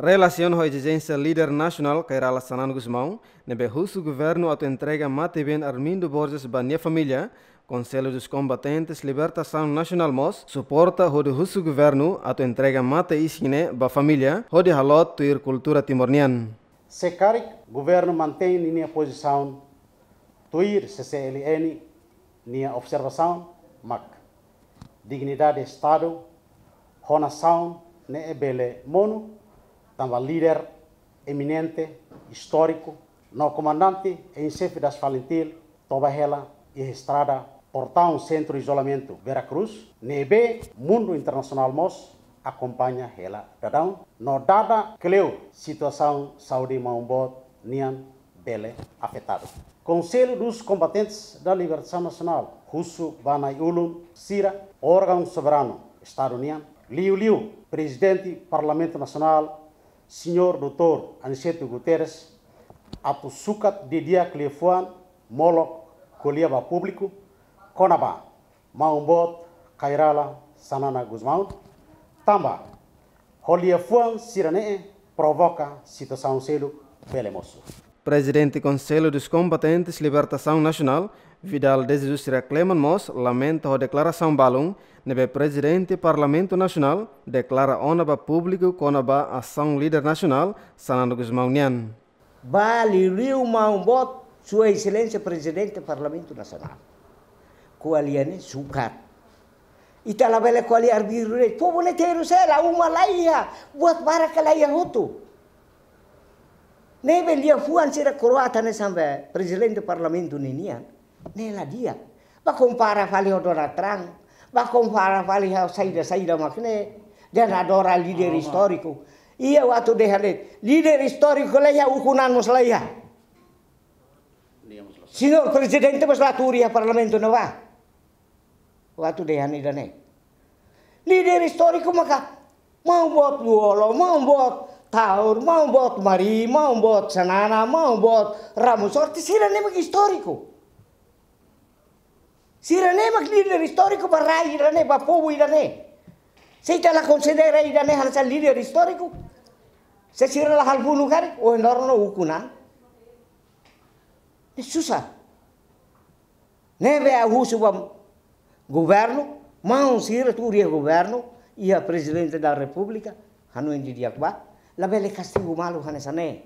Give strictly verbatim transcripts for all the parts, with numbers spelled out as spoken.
Relasiona ho ezijénsia líder nasionál Kay Rala Xanana Gusmão, ne'ebé husu governu atu entrega matebian Armindo Borges ba nia família, Conselho dos Combatentes Libertação Nacional mós suporta hodi husu governu atu entrega mate-isin ne'e ba família, hodi haloot tuir kultura Timor nian. Se karik governu mantein ninia pozisaun tuir C C L N nia observasaun, mak dignidade Estadu ho nasaun ne'e bele monu, tanba líder eminente, istóriku, no komandante em xefe das FALINTIL toba hela iha estrada Portaun Sentru Izolamentu, Vera Cruz, ne'ebé mundu internasionál mós akompaña hela daudaun, no dada kleur situasaun saúde maun-boot nian bele afetadu. Conselho dos Combatentes da Libertação Nacional husu ba na'i-ulun sira, órgaun soberanu Estadu nian, liuliu Prezidente Parlamentu Nasionál, Señór doutór Aniceto Guterres, atu sukat didi'ak liafuan molok ko'alia ba públiku kona-ba maun-boot Kay Rala Xanana Gusmão, tanba ho liafuan sira-ne'e provoka situasaun seluk bele mosu. Prezidente Conselho dos Combatentes Libertação Nacional, Vidal de Jesus Sira Cleman mós lamenta ho deklarasaun balun ne'ebé Prezidente Parlamentu Nasionál deklara ona ba públiku kona-ba asaun líder nasionál Xanana Gusmão nian. Ba liuliu maun-boot Sua Exelénsia Prezidente Parlamentu Nasionál. Ko'alia ne'e sukat. Ita labele ko'alia arbiru de'it. Povu ne'e terus hela, uma laiha, buat barak laiha hotu. Ne'ebé liafuan sira kroata ne'e hanesan be Prezidente Parlamentu ninian, ne'e la di'ak. Ba kompara fali ho Donald Trump, ba kompara fali ho saida-saida mak ne'e, dehan adora líder istóriku. Iha waktu dehan de'it, líder istóriku laiha, ukun-an mós laiha. Señór Prezidente mós la tuur iha Parlamentu ne'ebá. Waktu dehan ida-ne'e. Líder istóriku maka maun-boot Lú-Olo, maun-boot Taur, maun-boot Mari, maun-boot Xanana, maun-boot Ramos Horta, sira-ne'e mak istóriku. Sira-ne'e mak líder istóriku ba rai ida-ne'e, ba povu ida-ne'e. Se ita la konsidera ida-ne'e hanesan líder istóriku, se sira la halo funu karik, ohin loron no ukun-an. Ne'e susar. Ne'ebé ha'u husu ba governu, maun sira tuur iha governu, iha Prezidente da Repúblika, hanoin didi'ak ba, labele kastigu malu hanesan ne'e.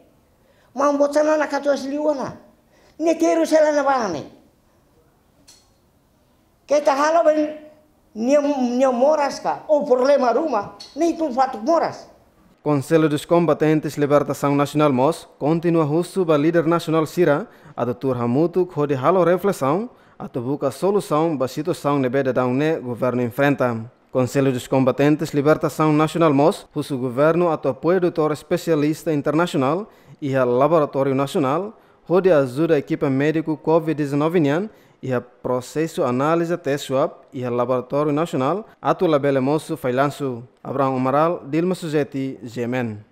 Maun-boot Xanana katuas liu ona. Ne'e terus hela ne'ebá ne'e. Keta halo ba nia, nia moras ka, ou problema ruma, ne'e ita fatuk moras. Conselho dos Combatentes Libertação Nacional mós kontinua husu ba líder nasionál sira atu tuur hamutuk hodi halo reflesaun, atu buka solusaun ba situasaun ne'ebé daudaun ne'e governu enfrenta. Conselho dos Combatentes Libertação Nacional mós husu governu atu apoia doutór espesialista internasionál iha laboratóriu nasionál, hodi ajuda ekipa médiku covid dezanove nian iha prosesu análize teste swab iha laboratóriu nasionál, atu labele mosu fallansu. Abraham Amaral, Dilma Suzeti, G M N.